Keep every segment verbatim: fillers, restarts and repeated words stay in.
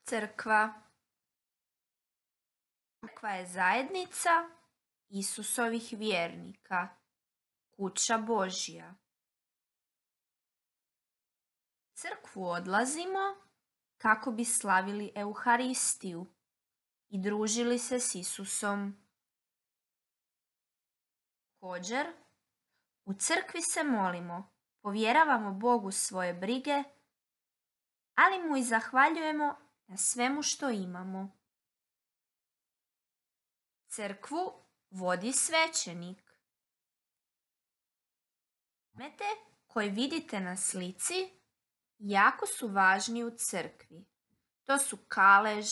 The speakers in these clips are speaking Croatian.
Crkva. Crkva je zajednica Isusovih vjernika, kuća Božja. U crkvu odlazimo kako bi slavili Euharistiju i družili se s Isusom. Također, u crkvi se molimo, povjeravamo Bogu svoje brige, ali mu i zahvaljujemo na svemu što imamo. Crkvu vodi svećenik. Predmete koje vidite na slici jako su važni u crkvi. To su kalež,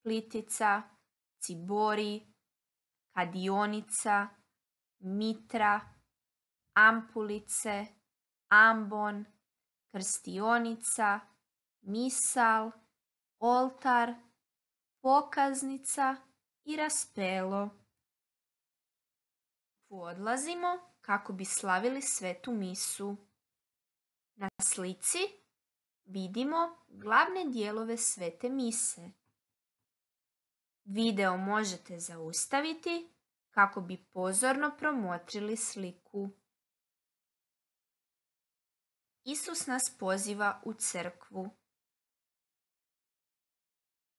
plitica, cibori, kadionica, mitra, ampulice, ambon, krstionica, misal, oltar, pokaznica i raspelo. Odlazimo kako bi slavili svetu misu. Na slici vidimo glavne dijelove svete mise. Video možete zaustaviti kako bi pozorno promotrili sliku. Isus nas poziva u crkvu.